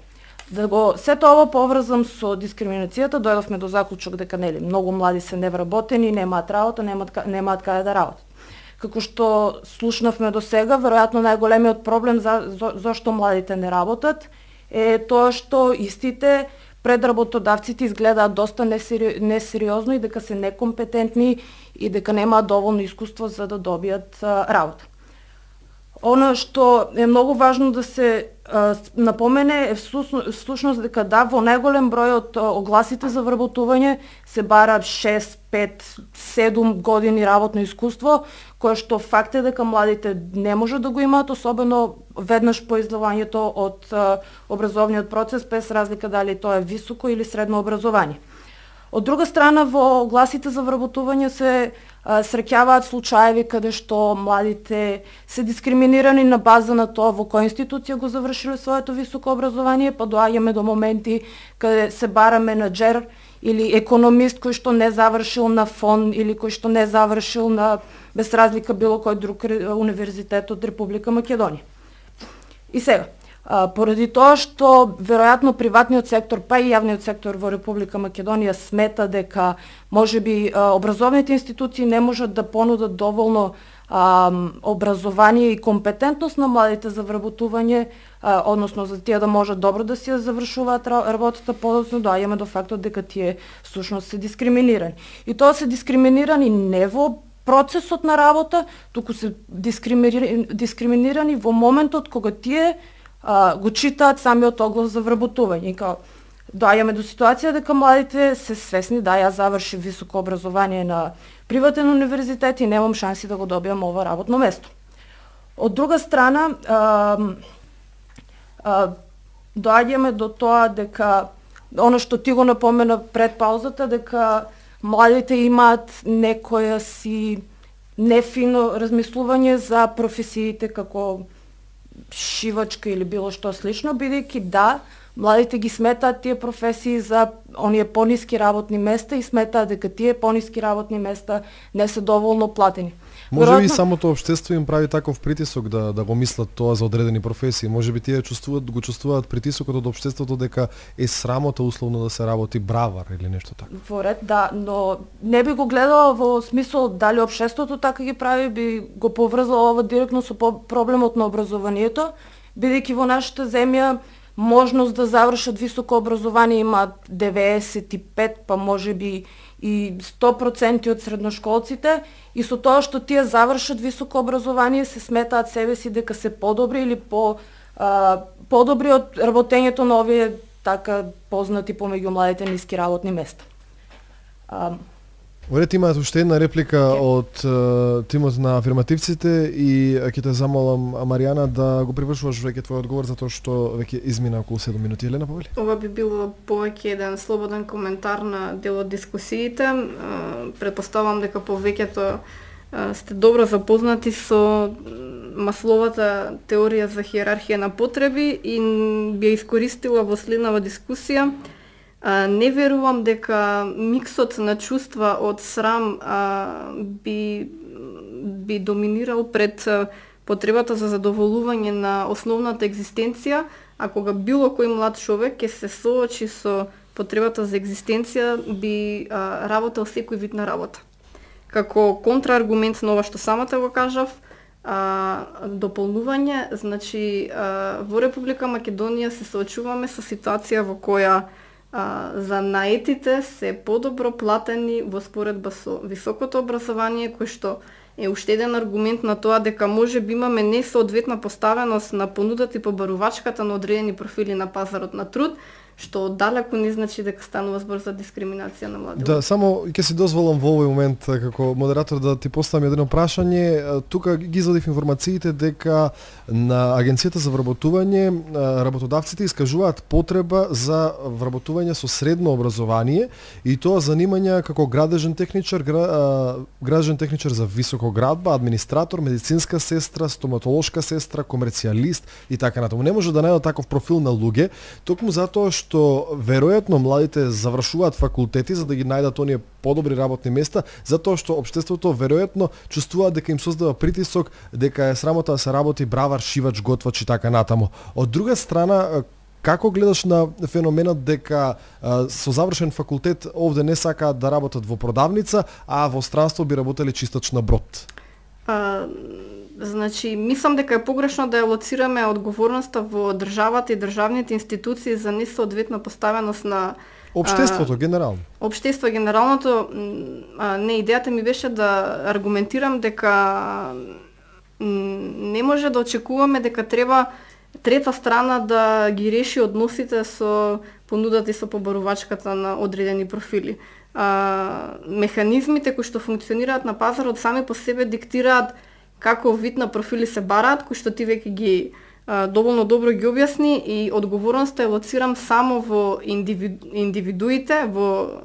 E: да го сето ова поврзам со дискриминацијата, дојдовме до заклучок дека нели многу млади се невработени, немаат работа, немаат немаат каде да работат. Како што слушнавме до сега, веројатно најголемиот проблем за, за зошто младите не работат е тоа што истите пред работодавците изгледаат доста несери... несериозно и дека се некомпетентни и дека немаат доволно искуство за да добијат а, работа. Оно што е многу важно да се а, напомене е всушност дека да, во најголем број од огласите за вработување се бара шест, пет, седум години работно искуство, кое што факт е дека младите не може да го имаат, особено веднаш по издавањето од а, образовниот процес, без разлика дали тоа е високо или средно образование. Од друга страна, во огласите за вработување се а, среќаваат случаеви каде што младите се дискриминирани на база на тоа во која институција го завршиле своето високо образование, па доаѓаме до моменти каде се бара менаџер или економист кој што не завршил на ФОН или кој што не завршил на, без разлика, било кој друг универзитет од Република Македонија. И сега, А, поради тоа што веројатно приватниот сектор, па и јавниот сектор во Република Македонија смета дека можеби а, образовните институции не можат да понудат доволно а, образование и компетентност на младите за вработување, а, односно за тие да можат добро да си ја завршуваат работата, подоцна доаѓаме до фактот дека тие всушност се дискриминирани. И тоа се дискриминирани не во процесот на работа, туку се дискриминирани, дискриминирани во моментот кога тие Uh, го читаат самиот оглас за вработување. Као, доаѓаме до ситуација дека младите се свесни, да, јас завршив високо образование на приватен универзитет и немам шанси да го добијам ова работно место. Од друга страна, uh, uh, доаѓаме до тоа дека, оно што ти го напомена пред паузата, дека младите имаат некоја си нефино размислување за професиите како шивачка или било што слично, бидејќи да, младите ги сметаат тие професии за оние пониски работни места и сметаат дека тие пониски работни места не се доволно платени.
A: Може би самото општество им прави таков притисок да да го мислат тоа за одредени професии. Може би тие чувствуваат, го чувствуваат притисокот од општеството дека е срамота условно да се работи бравар или нешто така.
E: Во ред, да, но не би го гледала во смисол дали општеството така ги прави, би го поврзала ова директно со проблемот на образованието, бидејќи во нашата земја можност да завршат високо образование има деветдесет и пет, па можеби и сто проценти од средношколците, и со тоа што тие завршат високо образование се сметаат себе си дека се подобри или по а, подобри од работењето на овие така познати помеѓу младите ниски работни места. А,
A: Оред има уште една реплика okay. од uh, тимот на афирмативците и ќе те замолам, Маријана, да го привршуваш веќе твој одговор, затоа што веќе измина околу седум минути. Елена, повели?
D: Ова би било повеќе еден слободен коментар на дел од дискусиите. Предпоставам дека повеќето сте добро запознати со Масловата теорија за хиерархија на потреби и би ја искористила во следнава дискусија. А, не верувам дека миксот на чувства од срам а, би, би доминирал пред а, потребата за задоволување на основната екзистенција, а кога било кој млад човек ќе се соочи со потребата за екзистенција, би а, работел секој вид на работа. Како контрааргумент на ова што самата го кажав, а, дополнување, значи а, во Република Македонија се соочуваме со ситуација во која А, за наетите се подобро платени во споредба со високото образование, кој што е уште еден аргумент на тоа дека може би имаме несоодветна поставеност на понудата и побарувачката на одредени профили на пазарот на труд, што далеку не значи дека станува збор за дискриминација на млади.
A: Да, само ќе си дозволам во овој момент како модератор да ти поставам едно прашање. Тука ги извадив информациите дека на Агенцијата за вработување работодавците искажуваат потреба за вработување со средно образование и тоа занимања како градежен техничар, градежен техничар за високоградба, администратор, медицинска сестра, стоматолошка сестра, комерцијалист и така натаму. Не може да најдат таков профил на луѓе, токму затоа што веројатно младите завршуваат факултети за да ги најдат оние подобри работни места, затоа што општеството веројатно чувствува дека им создава притисок, дека е срамота да се работи бравар, шивач, готвач и така натаму. Од друга страна, како гледаш на феноменот дека а, со завршен факултет овде не сакаат да работат во продавница, а во странство би работеле чистач на брод?
D: А, значи, мислам дека е погрешно да ја лоцираме одговорноста во државата и државните институции за несоодветна поставеност на
A: Обштеството а, генерално.
D: Обштество генералното, а, не, идејата ми беше да аргументирам дека не може да очекуваме дека треба трета страна да ги реши односите со понудата и со побарувачката на одредени профили. А, механизмите кои што функционираат на пазарот сами по себе диктираат каков вид на профили се бараат, кои што ти веќе ги а, доволно добро ги објасни, и одговорноста ја лоцирам само во индивиду, индивидуите, во,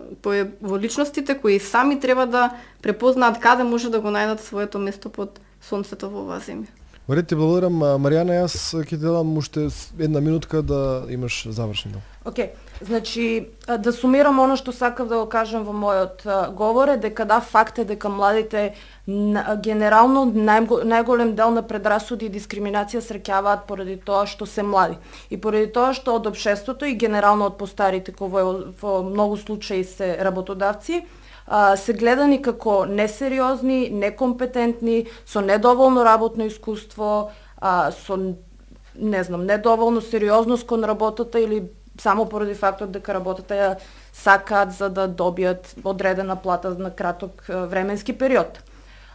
D: во личностите кои сами треба да препознаат каде може да го најдат своето место под сонцето во оваа земја.
A: Во ред, ти благодарам, Маријана, јас ќе ти дадам уште една минутка да имаш завршено.
E: Окей, okay. Значи, да сумирам оно што сакав да го кажам во мојот говор е дека да, факт е дека младите генерално нај, најголем дел на предрасуди и дискриминација среќаваат поради тоа што се млади. И поради тоа што од општеството и генерално од постарите, кои во, во многу случаи се работодавци, се гледани како несериозни, некомпетентни, со недоволно работно искуство, со, не знам, недоволно сериозност кон работата или само поради фактот дека работата ја сакаат за да добијат одредена плата на краток временски период.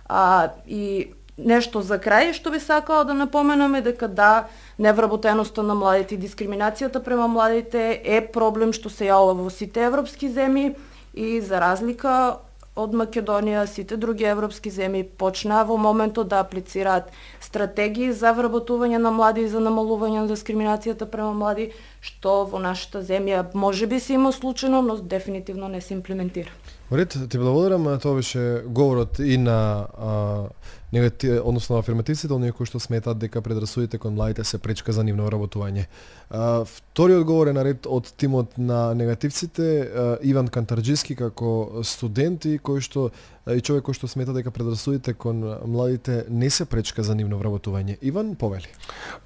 E: А, и нешто за крај што би сакала да напоменаме дека да, невработеноста на младите и дискриминацијата према младите е проблем што се јавува во сите европски земји. И за разлика од Македонија, сите други европски земји почнаа во моментот да аплицираат стратегии за вработување на млади и за намалување на дискриминацијата према млади, што во нашата земја можеби се има случајно, но дефинитивно не се имплементира.
A: Ред, ти благодарам, тоа беше говорот и на а, негати, односно на афирмативците, оние кои што сметаат дека предрасудите кон младите се пречка за нивно вработување. А, вториот говор е наред од тимот на негативците, а, Иван Кантарџиски како студент и кој што и човек кој што смета дека предрасудите кон младите не се пречка за нивно вработување. Иван, повели.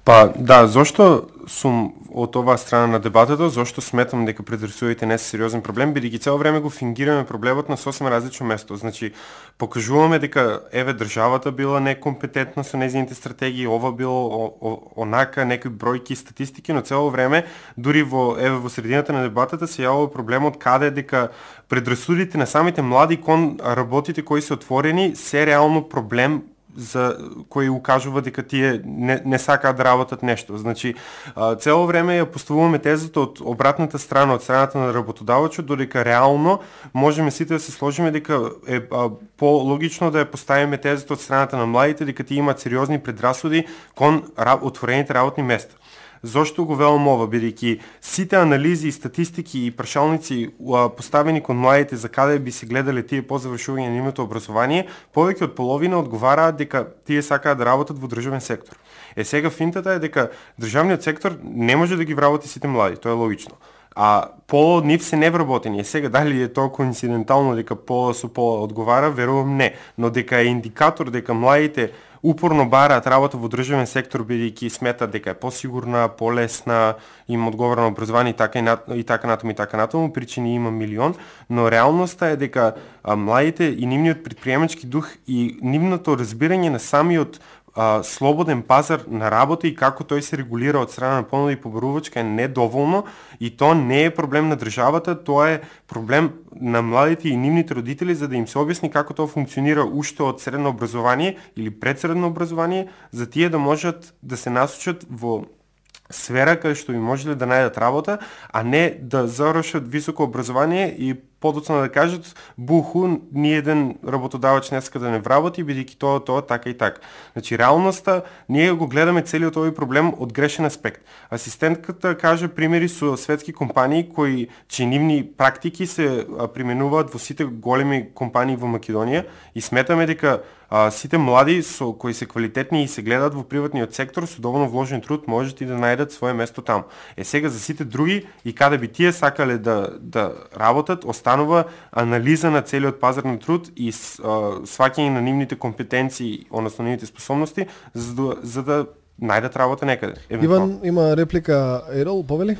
C: Па да, зошто сум од оваа страна на дебатата, зошто сметам дека предрасудите не се сериозен проблем, бидејќи цело време го фингираме проблемот на сосема различно место. Значи, покажуваме дека еве државата била некомпетентна со нејзините стратегии, ова било о, о, онака некои бројки и статистики, но цело време дури во еве во средината на дебатата се јавува проблемот каде дека предрасудите на самите млади кон работите кои се отворени се реално проблем за кој укажува дека тие не, не сакаат да работат нешто. Значи, цело време ја поставуваме тезата од обратната страна, од страната на работодавачот, додека реално можеме сите да се сложиме дека е по-логично да ја поставиме тезата од страната на младите, дека тие имаат сериозни предрасуди кон отворените работни места. Зошто го велам ова, бидејќи сите анализи и статистики и прашалници поставени кон младите за каде би се гледале тие по завршување на нивното образование, повеќе од половина одговараат дека тие сакаат да работат во државен сектор. Е сега финтата е дека државниот сектор не може да ги вработи сите млади, тоа е логично. А пола од нив се невработени. Е сега дали е тоа коинцидентално дека пола со пола одговара, верувам не, но дека е индикатор дека младите упорно бараат работа во државен сектор бидејќи сметат дека е посигурна, полесна, им одговара на образование и така и, на, и така натаму и така натаму, причини има милион, но реалноста е дека а, младите и нивниот претприемачки дух и нивното разбирање на самиот а, слободен пазар на работа и како тој се регулира од страна на понуда и побарувачка е недоволно, и тоа не е проблем на државата, тоа е проблем на младите и нивните родители, за да им се објасни како тоа функционира уште од средно образование или предсредно образование, за тие да можат да се насочат во сфера каде што би можеле да најдат работа, а не да завршат високо образование и подоцна да кажат буху, ни еден работодавач не сака да не вработи, бидејќи тоа, тоа, така и така. Значи, реалноста, ние го гледаме целиот овој проблем од грешен аспект. Асистентката каже примери со светски компании кои чии нивни практики се применуваат во сите големи компании во Македонија и сметаме дека а, сите млади со кои се квалитетни и се гледаат во приватниот сектор со доволно вложен труд можат и да најдат свое место таму. Е сега за сите други и каде би тие сакале да да работат, останува анализа на целиот пазар на труд и сваќање на нивните компетенции, односно нивните способности за да, за да најдат работа некаде.
A: Иван има реплика, Ерол, повели?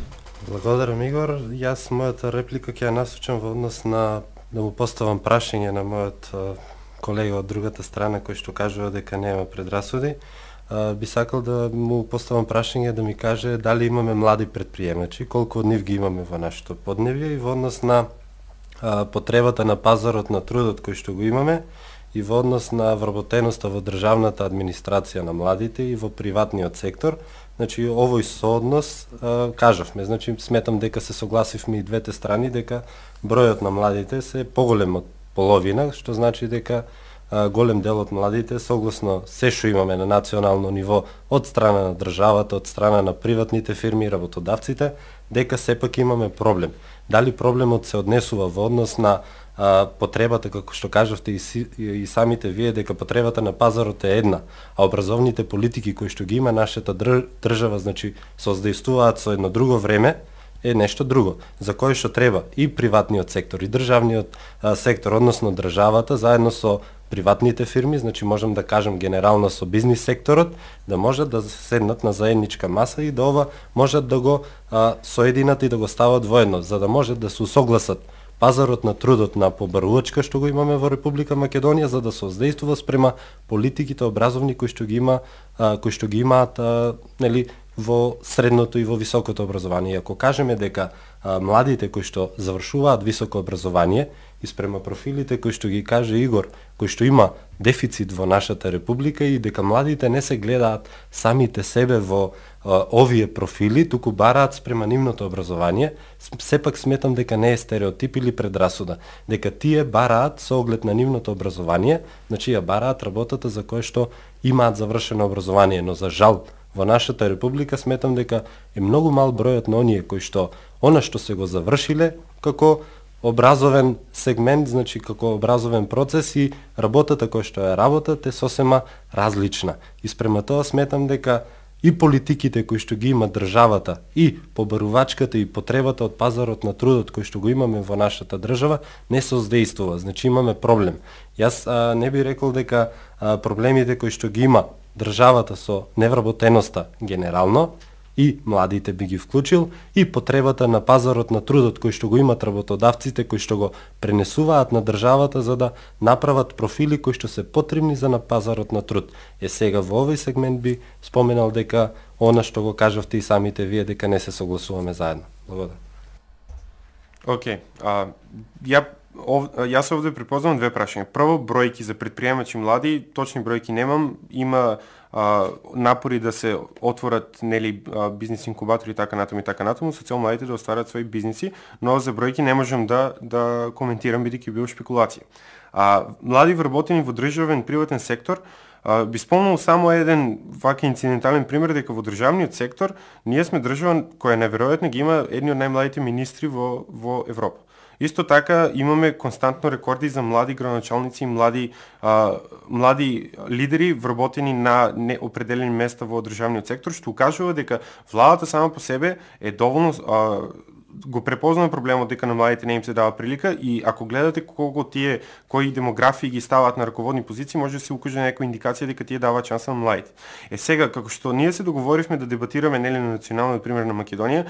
B: Благодарам, Игор. Јас мојата реплика ќе ја насочам во однос на да му поставам прашање на мојот колега од другата страна кој што кажува дека нема предрасуди. Uh, би сакал да му поставам прашање да ми каже дали имаме млади предприемачи, колку од нив ги имаме во нашето подневје и во однос на uh, потребата на пазарот на трудот кој што го имаме и во однос на вработеноста во државната администрација на младите и во приватниот сектор. Значи овој сооднос uh, кажавме, значи сметам дека се согласивме и двете страни дека бројот на младите се поголем од половина, што значи дека голем дел од младите, согласно се што имаме на национално ниво од страна на државата, од страна на приватните фирми и работодавците, дека сепак имаме проблем. Дали проблемот се однесува во однос на а, потребата, како што кажавте и, си, и самите вие, дека потребата на пазарот е една, а образовните политики кои што ги има нашата држава, значи создействуваат со едно друго време, е нешто друго, за кое што треба и приватниот сектор и државниот а, сектор, односно државата, заедно со приватните фирми, значи можам да кажам генерално со бизнис секторот, да можат да седнат на заедничка маса и да ова можат да го а, соединат и да го стават воедно, за да можат да се усогласат пазарот на трудот на побарувачка што го имаме во Република Македонија, за да се создействува спрема политиките образовни кои што ги има, а, кои што ги имаат а, нели во средното и во високото образование. Ако кажеме дека а, младите кои што завршуваат високо образование и спрема профилите кои што ги каже Игор, кои што има дефицит во нашата република и дека младите не се гледаат самите себе во а, овие профили, туку бараат спрема нивното образование, сепак сметам дека не е стереотип или предрасуда, дека тие бараат со оглед на нивното образование, значи ја бараат работата за која што имаат завршено образование, но за жал во нашата република сметам дека е многу мал бројот на оние кои што она што се го завршиле како образовен сегмент, значи како образовен процес и работата која што е работат е сосема различна. И спрема тоа сметам дека и политиките кои што ги има државата и побарувачката и потребата од пазарот на трудот кој што го имаме во нашата држава не создействува, значи имаме проблем. Јас а, не би рекол дека а, проблемите кои што ги има државата со невработеноста генерално и младите би ги вклучил и потребата на пазарот на трудот кој што го имат работодавците кои што го пренесуваат на државата за да направат профили кои што се потребни за на пазарот на труд. Е сега во овој сегмент би споменал дека она што го кажавте и самите вие дека не се согласуваме заедно. Благодарам.
C: Океј, okay. ја Ов, јас овде припознавам две прашања. Прво, бројки за предприемачи млади, точни бројки немам. Има а, напори да се отворат нели бизнис инкубатори и така натаму и така натаму со цел младите да остварат своји бизниси, но за бројки не можам да да коментирам бидејќи било шпекулација. А млади вработени во државен приватен сектор, а, би спомнал само еден вака инцидентален пример дека во државниот сектор ние сме држава која неверојатно ги има едни од најмладите министри во во Европа. Исто така имаме константно рекорди за млади градоначалници и млади а, млади лидери вработени на неопределени места во државниот сектор, што укажува дека владата сама по себе е доволно а, го препознава проблемот дека на младите не им се дава прилика и ако гледате колку тие кои демографии ги ставаат на раководни позиции, може да се укаже некоја индикација дека тие даваат шанса на младите. Е сега како што ние се договоривме да дебатираме нели на националниот пример на Македонија,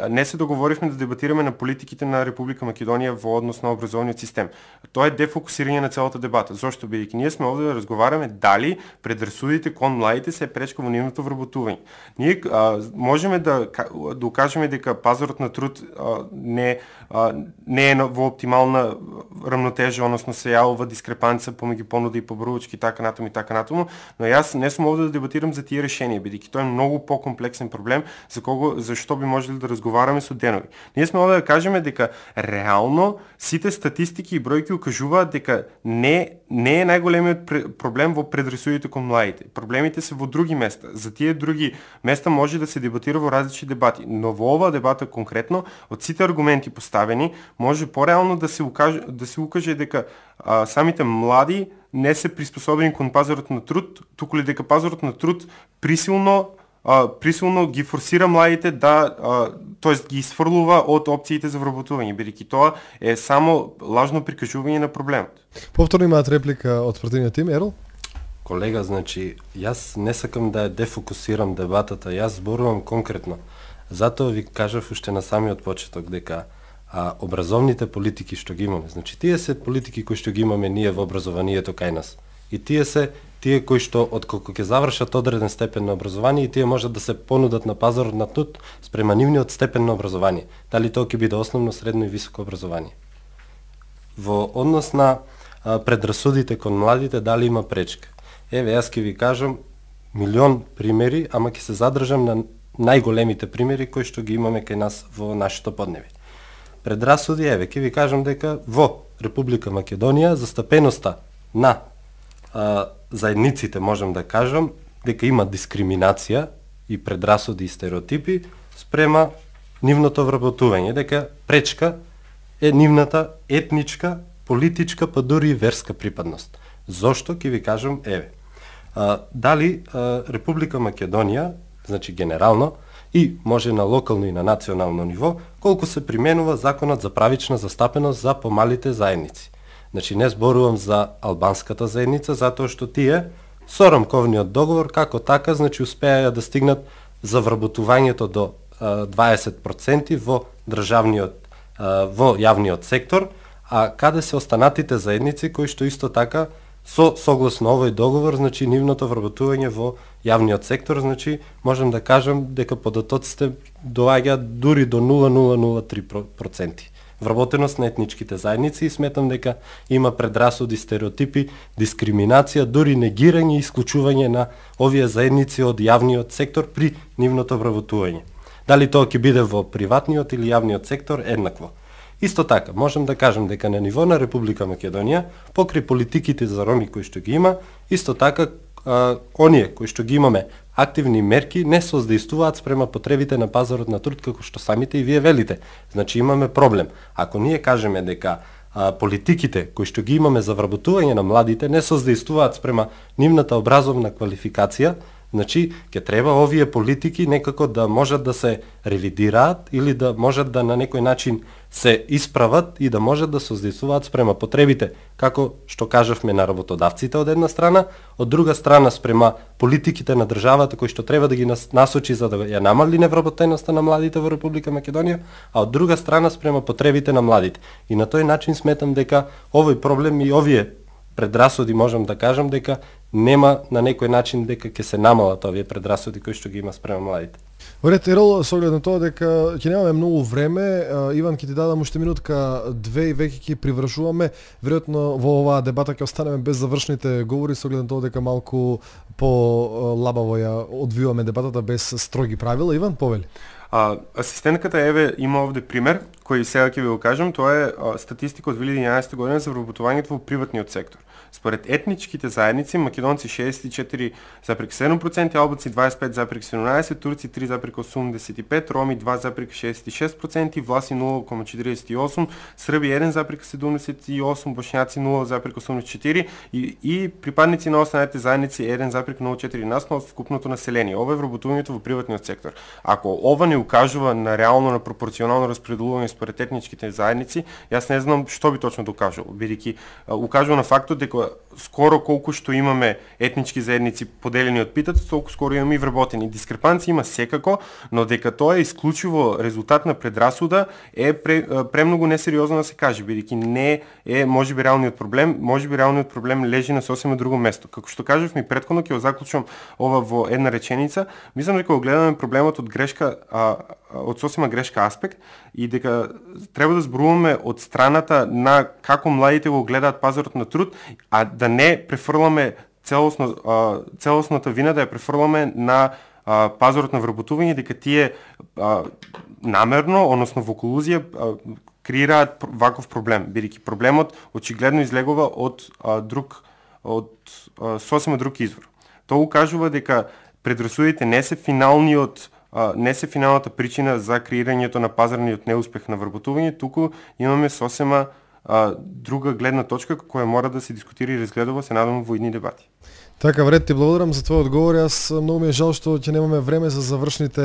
C: не се договоривме да дебатираме на политиките на Република Македонија во однос на образовниот систем. Тоа е дефокусирање на целата дебата. Зошто бидејќи ние сме овде да разговараме дали предрасудите кон младите се пречка во нивното вработување. Ние а, можеме да да укажеме дека пазарот на труд а, не а, не е во оптимална рамнотежа, односно се јавува дискрепанца помеѓу понуда и поборувачки така натаму и така натаму, но јас не сум овде да дебатирам за тие решенија, бидејќи тоа е многу покомплексен проблем за кого за што би можеле да разговараме со денови. Ние сме овде да кажеме дека реално сите статистики и бројки укажуваат дека не не е најголемиот проблем во предрасудите кон младите. Проблемите се во други места. За тие други места може да се дебатира во различни дебати, но во оваа дебата конкретно од сите аргументи поставени може пореално да се укаже да се укаже дека а, самите млади не се приспособени кон пазарот на труд, туку ли дека пазарот на труд присилно а, присилно ги форсира младите да, а, тоест ги изфрлува од опциите за вработување, бидејќи тоа е само лажно прикажување на проблемот.
A: Повторно имаат реплика од противниот тим, Ерол?
B: Колега, значи, јас не сакам да ја дефокусирам дебатата, јас зборувам конкретно. Затоа ви кажав уште на самиот почеток дека а, образовните политики што ги имаме, значи тие се политики кои што ги имаме ние во образованието кај нас. И тие се тие кои што откако ќе завршат одреден степен на образование и тие можат да се понудат на пазарот на труд спрема нивниот степен на образование. Дали тоа ќе биде основно, средно и високо образование. Во однос на а, предрасудите кон младите, дали има пречка? Еве, јас ќе ви кажам милион примери, ама ќе се задржам на најголемите примери кои што ги имаме кај нас во нашето поднебе. Предрасуди, еве, ќе ви кажам дека во Република Македонија застапеноста на а, заедниците, можам да кажам, дека има дискриминација и предрасуди и стереотипи спрема нивното вработување, дека пречка е нивната етничка, политичка, па дури и верска припадност. Зошто ќе ви кажам, еве. А, дали а, Република Македонија, значи генерално, и може на локално и на национално ниво, колку се применува законот за правична застапеност за помалите заедници. Значи не зборувам за албанската заедница, затоа што тие со рамковниот договор како така, значи успеа да стигнат за вработувањето до а, дваесет проценти во државниот, а, во јавниот сектор, а каде се останатите заедници кои што исто така со согласно овој договор, значи нивното вработување во јавниот сектор, значи можам да кажам дека податоците доаѓаат дури до нула целу нула три проценти вработеност на етничките заедници и сметам дека има предрасуди, стереотипи, дискриминација, дури негирање и исклучување на овие заедници од јавниот сектор при нивното вработување. Дали тоа ќе биде во приватниот или јавниот сектор, еднакво. Исто така, можам да кажам дека на ниво на Република Македонија, покрај политиките за роми кои што ги има, исто така а, оние кои што ги имаме активни мерки не создействуваат спрема потребите на пазарот на труд, како што самите и вие велите. Значи имаме проблем. Ако ние кажеме дека а, политиките кои што ги имаме за вработување на младите не создействуваат спрема нивната образовна квалификација, значи ќе треба овие политики некако да можат да се ревидираат или да можат да на некој начин се исправат и да можат да создействуваат спрема потребите, како што кажавме на работодавците од една страна, од друга страна спрема политиките на државата кои што треба да ги насочи за да ја намали невработеноста на младите во Република Македонија, а од друга страна спрема потребите на младите. И на тој начин сметам дека овој проблем и овие предрасуди можам да кажам дека нема на некој начин дека ќе се намалат овие предрасуди кои што ги има спрема младите.
A: Оред, Ерол, со оглед на тоа дека ќе немаме многу време, Иван ќе ти дадам уште минутка две и веќе ќе привршуваме. Веројатно во оваа дебата ќе останеме без завршните говори со оглед на тоа дека малку по лабаво ја одвиваме дебатата без строги правила. Иван, повели.
C: А, асистентката Еве има овде пример кој сега ќе ви го кажам, тоа е а, статистика од две илјади и единаесета година за вработувањето во приватниот сектор. Според етничките заедници, македонци шеесет и четири зарез седум проценти, албанци дваесет и пет зарез седумнаесет, турци три зарез осумдесет и пет, роми два зарез шеесет и шест проценти, власи нула зарез четиридесет и осум, срби еден зарез седумдесет и осум, бошњаци нула зарез осумдесет и четири и, и припадници на останатите заедници еден зарез нула четири насно од вкупното население. Ова е вработувањето во приватниот сектор. Ако ова не укажува на реално на пропорционално распределување според етничките заедници, јас не знам што би точно докажало, бидејќи укажува на фактот дека скоро колку што имаме етнички заедници поделени од питат, толку скоро имаме и вработени. Дискрепанци има секако, но дека тоа е исклучиво резултат на предрасуда е пре, премногу несериозно да се каже, бидејќи не е можеби реалниот проблем, можеби реалниот проблем лежи на сосема друго место. Како што кажав ми претходно, ќе го заклучам ова во една реченица, мислам дека го гледаме проблемот од грешка, а, од сосема грешка аспект и дека треба да зборуваме од страната на како младите го гледаат пазарот на труд, а да не префрламе целосно целосната вина да ја префрламе на а, пазарот на вработување, дека тие а, намерно, односно во колузија а, креираат ваков проблем, бидејќи проблемот очигледно излегува од а, друг од а, сосема друг извор. Тоа укажува дека предрасудите не се финалниот а, не се финалната причина за креирањето на пазарниот неуспех на вработување, туку имаме сосема а, друга гледна точка која мора да се дискутира и разгледува, се надам, во идни дебати.
A: Така, Вред, ти благодарам за твојот одговор. Јас многу ми е жал што ќе немаме време за завршните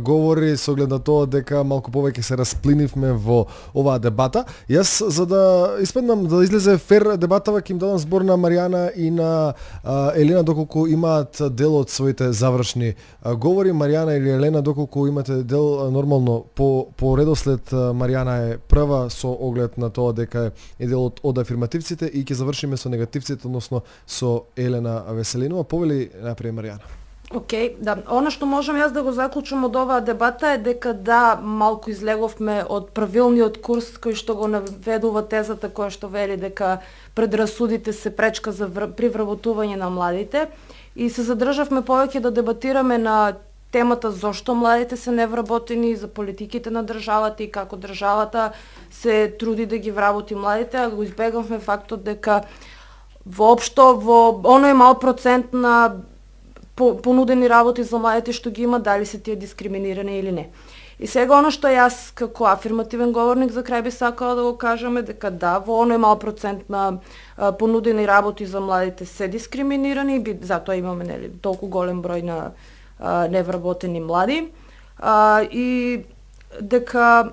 A: говори со оглед на тоа дека малку повеќе се расплинивме во оваа дебата. Јас, за да испаднам, да излезе фер дебатава, ќе им дадам збор на Маријана и на а, Елена доколку имаат дел од своите завршни а, говори. Маријана или Елена, доколку имате дел, а, нормално по, по редослед Маријана е прва со оглед на тоа дека е дел од, од афирмативците и ќе завршиме со негативците, односно со Елена Веселинова. Повели напред Маријана.
E: Океј, okay, да. Она што можам јас да го заклучам од оваа дебата е дека да, малку излеговме од правилниот курс кој што го наведува тезата која што вели дека предрасудите се пречка за вр... при вработување на младите и се задржавме повеќе да дебатираме на темата зошто младите се невработени, за политиките на државата и како државата се труди да ги вработи младите, а го избегавме фактот дека воопшто во оној мал процент на понудени работи за младите што ги има, дали се тие дискриминирани или не. И сега оно што јас како афирмативен говорник за крај би сакала да го кажаме дека да, во оној мал процент на а, понудени работи за младите се дискриминирани, би, затоа имаме нели толку голем број на а, невработени млади а, и дека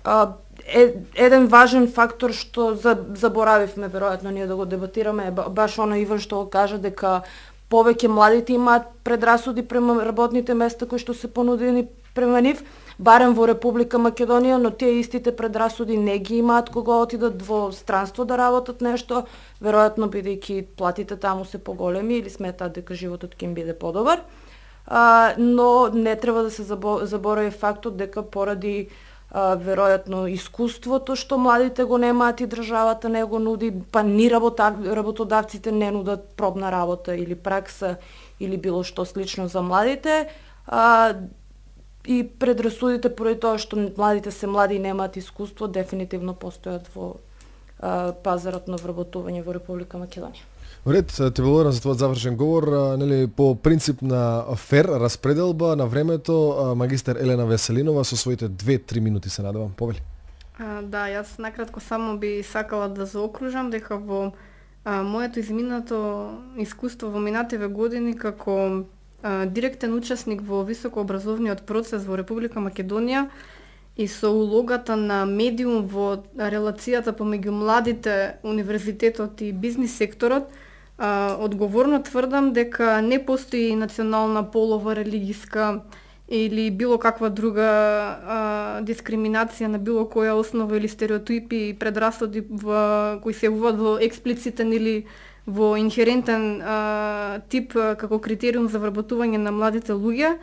E: а, Е, еден важен фактор што заборавивме веројатно ние да го дебатираме е баш оно Иван што го кажа дека повеќе младите имаат предрасуди према работните места кои што се понудени према нив, барем во Република Македонија, но тие истите предрасуди не ги имаат кога отидат во странство да работат нешто, веројатно бидејќи платите таму се поголеми или сметаат дека животот ќе им биде подобар. А, но не треба да се заборави фактот дека поради Uh, веројатно искуството што младите го немаат и државата не го нуди, па ни работа, работодавците не нудат пробна работа или пракса или било што слично за младите, uh, и предрасудите поради тоа што младите се млади и немаат искуство дефинитивно постојат во uh, пазарот на вработување во Република Македонија.
A: Ред, те благодарам за твојот завршен говор, нели по принцип на фер распределба на времето, магистер Елена Веселинова со своите две-три минути се надевам. Повели.
D: А, да, јас накратко само би сакала да заокружам дека во а, моето изминато искуство во минативе години како а, директен учесник во високообразовниот процес во Република Македонија и со улогата на медиум во релацијата помеѓу младите, универзитетот и бизнис секторот, а, одговорно тврдам дека не постои национална, полова, религиска или било каква друга а, дискриминација на било која основа или стереотипи и предрасуди во, кои се уводат во експлицитен или во инхерентен а, тип а, како критериум за вработување на младите луѓе.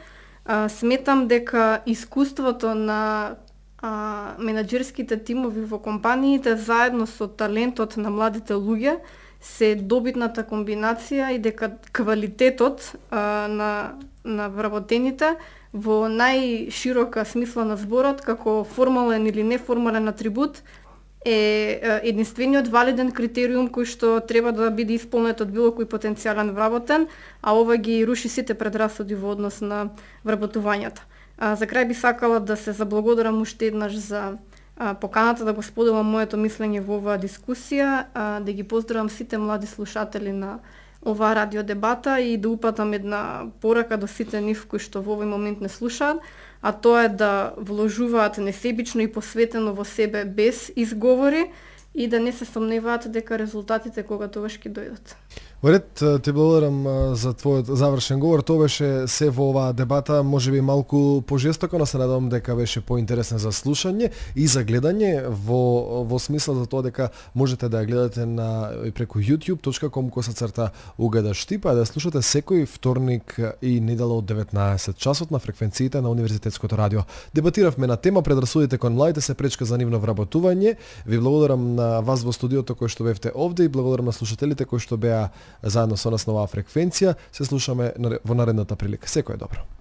D: А, сметам дека искуството на а, менаџерските тимови во компаниите заедно со талентот на младите луѓе се добитната комбинација и дека квалитетот а, на, на вработените во најширока смисла на зборот, како формален или неформален атрибут, е единствениот валиден критериум кој што треба да биде исполнет од било кој потенцијален вработен, а ова ги руши сите предрасуди во однос на вработувањето. А, за крај би сакала да се заблагодарам уште еднаш за а, поканата да го споделам моето мислење во оваа дискусија, а, да ги поздравам сите млади слушатели на оваа радиодебата и да упатам една порака до сите нив кои што во овој момент не слушаат, а тоа е да вложуваат несебично и посветено во себе без изговори и да не се сомневаат дека резултатите кога тогаш ќе дојдат.
A: Во ред, ти благодарам за твојот завршен говор. Тоа беше се во оваа дебата, можеби малку пожестоко, но се надевам дека беше поинтересна за слушање и за гледање во во смисла за тоа дека можете да ја гледате на преку youtube точка com косацрта угада штип, а да слушате секој вторник и недела од деветнаесет часот на фреквенциите на Универзитетското радио. Дебатиравме на тема предрасудите кон младите се пречка за нивно вработување. Ви благодарам на вас во студиото кои што бевте овде и благодарам на слушателите кои што беа заедно со нас на оваа фреквенција. Се слушаме во наредната прилика. Секој е добро.